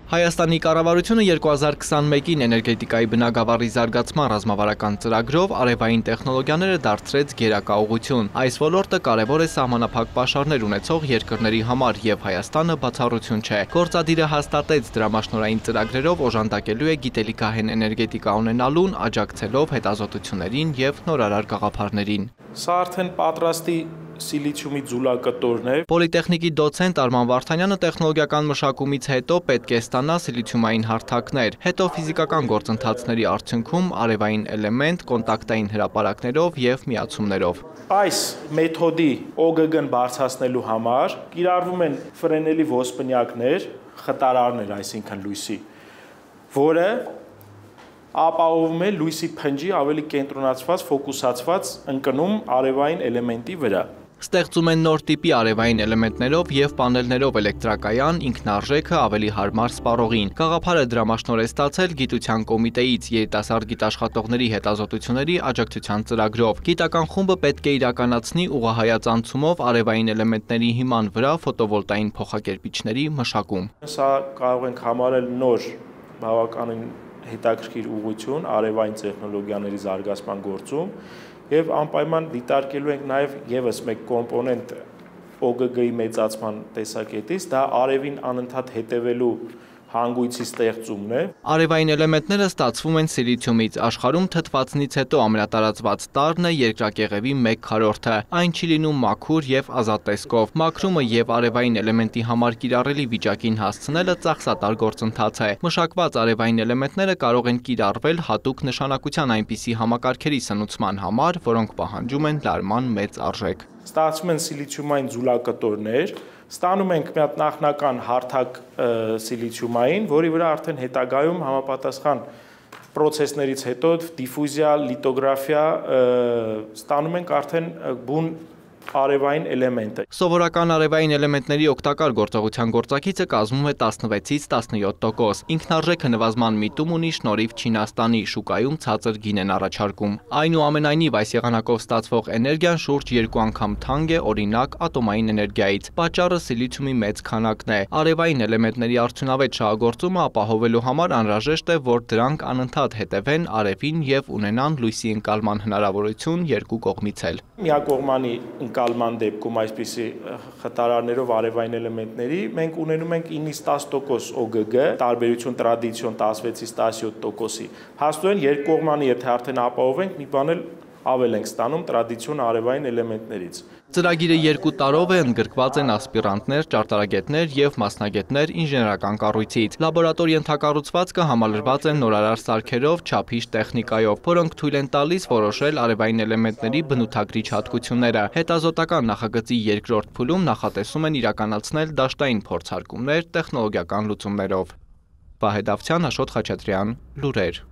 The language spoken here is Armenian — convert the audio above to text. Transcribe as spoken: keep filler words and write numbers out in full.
Հայաստանի կառավարությունը երկու հազար քսանմեկին էներգետիկայի բնագավառի զարգացման ռազմավարական ծրագրով արևային տեխնոլոգիաները դարձրեց գերակա ուղղություն։ Այս ոլորտը կարևոր է սահմանափակ պաշարներ ունեցող երկրների համար և Հայաստանը բացառություն չէ։ Գործադիրը հաստատեց դրամաշնորհային ծրագրերով օժանդակելու է գիտելիքահեն էներգետիկա ունենալուն, աջակցելով հետազոտություններին և նորարար գաղափարներին։ Սա արդեն պատրաստի սիլիցիումի ձուլակտորն է։ Պոլիտեխնիկի դոցենտ Արման Վարդանյանը տեխնոլոգիական մշակումից հետո պետք է ստանա սիլիցիումային հարթակներ, հետո ֆիզիկական գործընթացների արդյունքում արևային էլեմենտ կոնտակտային հրապարակներով և միացումներով։ Այս մեթոդի օ գ գ-ն բարձրացնելու համար կիրառվում են ֆրենելի ոսպնյակներ, խտարարներ, այսինքն լույսի, որը ապահովում է լույսի փնջի ավելի կենտրոնացված, ֆոկուսացված ընկնում արևային էլեմենտի վրա։ Ստեղծում են նոր տիպի արևային էլեմենտներով և պանելներով էլեկտրակայան, ինքնարժեքը ավելի հարմար սպառողին։ Գաղափարը դրամաշնորհ է ստացել գիտության կոմիտեից երիտասարդ գիտաշխատողների հետազոտությունների աջակցության ծրագրով։ Գիտական խումբը պետք է իրականացնի ուղղահայաց անցումով արևային էլեմենտների հիման վրա ֆոտովոլտային փոխակերպիչների մշակում։ Սա կարող ենք համարել նոր բավականին հետաքրքիր ուղղություն արևային տեխնոլոգիաների զարգացման գործում և անպայման դիտարկելու ենք նաև ևս մեկ կոմպոնենտ օ գ գ-ի մեծացման տեսակետից, դա արևին անընդհատ հետևելու հանգույցի ստեղծումն է։ Արևային էլեմենտները ստացվում են սիլիցիումից, աշխարհում թթվածնից հետո ամենատարածված տարրն է երկրակեղևի մեկ քառորդը, այն չի լինում մաքուր և ազատ տեսքով։ Մաքրումը և արևային էլեմենտի համար կիրառելի վիճակին հասցնելը ծախսատար գործընթաց է։ Մշակված արևային էլեմենտները կարող են կիրառվել հատուկ նշանակության այնպիսի համակարգերի սնուցման համար, որոնք պահանջում են լարման մեծ արժեք։ Ստացվում են սիլիցիումային ձուլակտորներ, ստանում ենք մի հատ նախնական հարթակ սիլիցիումային, որի վրա արդեն հետագայում համապատասխան պրոցեսներից հետո դիֆուզիա, լիտոգրաֆիա ստանում ենք արդեն բուն արևային էլեմենտը։ Սովորական արևային էլեմենտների օգտակար գործողության գործակիցը կազմում է տասնվեցից տասնյոթ տոկոս։ Ինքնարժեքը նվազման միտում ունի շնորհիվ Չինաստանի, շուկայում ցածր գին են առաջարկում։ Այնուամենայնիվ այս եղանակով ստացվող էներգիան շուրջ երկու անգամ թանկ է օրինակ ատոմային էներգիայից։ Պատճառը սիլիցիումի մեծ քանակն է։ Արևային էլեմենտների արդյունավետ շահագործումը ապահովելու համար անհրաժեշտ է, որ դրանք անընդհատ հետևեն արևին և ունենան լույսի ընկալման հնարավորություն երկու կողմից էլ։ Միակողմանի ընկալման դեպքում այսպիսի խտարարներով արևային էլեմենտների մենք ունենում ենք ինից տասը տոկոս օ գ գ, տարբերություն տրադիցիոն տասնվեցից տասնյոթ տոկոսի։ Փաստորեն երկկողմանի եթե արդեն ապահովենք, մի բան էլ ավել ենք ստանում տրադիցիոն արևային էլեմենտներից։ Ծրագիրը երկու տարով է, ընդգրկված են ասպիրանտներ, ճարտարագետներ և մասնագետներ ինժեներական կառույցից։ Լաբորատորի ենթակառուցվածքը համալրված է նորարար սարքերով, չափիչ տեխնիկայով, որոնք թույլ են տալիս որոշել արևային էլեմենտների բնութագրիչ հատկությունները։ Հետազոտական նախագծի երկրորդ փուլում նախատեսում են իրականացնել դաշտային փորձարկումներ տեխնոլոգիական լուծումներով։ Վահե Դավթյան, Աշոտ Խաչատրյան, լուրեր։